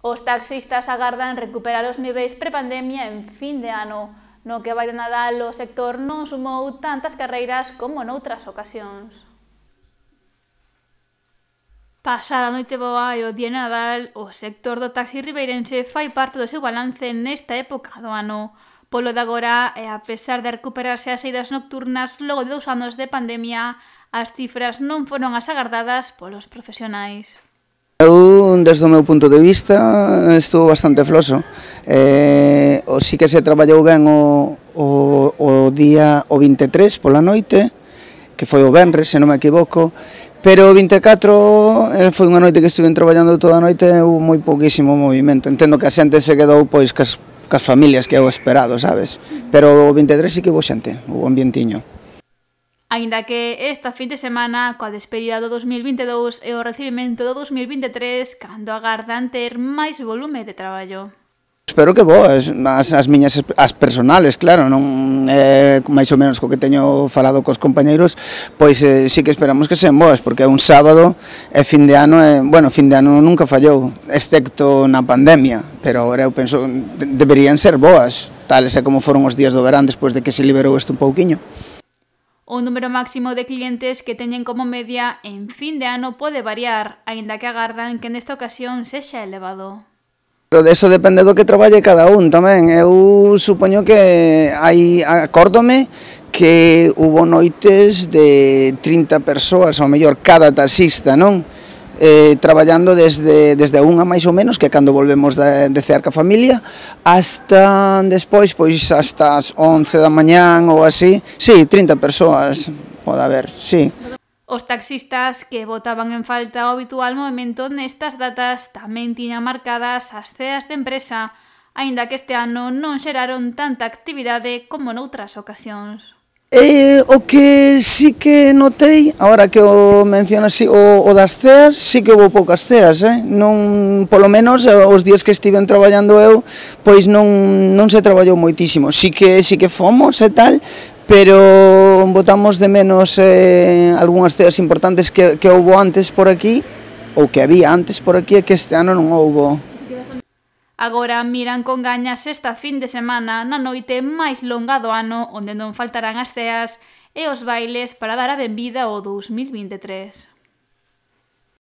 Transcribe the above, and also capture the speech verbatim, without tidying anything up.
Os taxistas agardan recuperar os niveis prepandemia en fin de ano. No que vai de Nadal, o sector non sumou tantas carreiras como noutras ocasións. Pasada a noite boa e o día de Nadal, o sector do taxi ribeirense fai parte do seu balance nesta época do ano. Polo de agora, e a pesar de recuperarse as saídas nocturnas logo de dous anos de pandemia, as cifras non foron as agardadas polos profesionais. Eu, desde o meu punto de vista, estou bastante floso. Eh, o sí que se traballou ben o, o, o día o vinte e tres pola noite, que foi o venres, se non me equivoco, pero o vinte e catro eh, foi unha noite que estuve traballando toda a noite e houve moi pouquísimo movimento. Entendo que a xente se quedou pois cas, cas familias que é o esperado, sabes? Pero o vinte e tres sí que houve xente, houve ambientiño. Aínda que esta fin de semana, coa despedida do dos mil vinte e dous e o recibimento do dos mil vinte e tres, cando agardan ter máis volume de traballo. Espero que boas, as, as miñas as personales, claro, non é eh, máis ou menos co que teño falado cos compañeiros, pois eh, sí que esperamos que sean boas, porque é un sábado e fin de ano, e, bueno, fin de ano nunca fallou, excepto na pandemia, pero agora eu penso de, deberían ser boas, tales é como foron os días do verán despois de que se liberou isto un pouquiño. O número máximo de clientes que teñen como media en fin de ano pode variar, aínda que agardan que nesta ocasión sexa elevado. Pero de eso depende do que traballe cada un tamén. Eu supoño que hai, acórdome que hubo noites de trinta persoas, ao mellor cada taxista, non? Eh, traballando desde, desde a unha máis ou menos, que é cando volvemos de, de cear ca familia, hasta despois, pois hasta as once da mañán ou así. Sí, trinta persoas pode haber, sí. Os taxistas que botaban en falta o habitual movimento nestas datas tamén tiñan marcadas as ceas de empresa, aínda que este ano non xeraron tanta actividade como noutras ocasións. E o que sí que notei, agora que o mencionas, o, o das ceas, sí que houve poucas ceas, eh? Non, polo menos os días que estiven traballando eu, pois non, non se traballou moitísimo, sí que, sí que fomos e tal, pero botamos de menos eh, algunhas ceas importantes que, que houve antes por aquí, ou que había antes por aquí, e que este ano non houve. Agora miran con gañas esta fin de semana na noite máis longa do ano, onde non faltarán as ceas e os bailes para dar a benvida ao dos mil vinte e tres.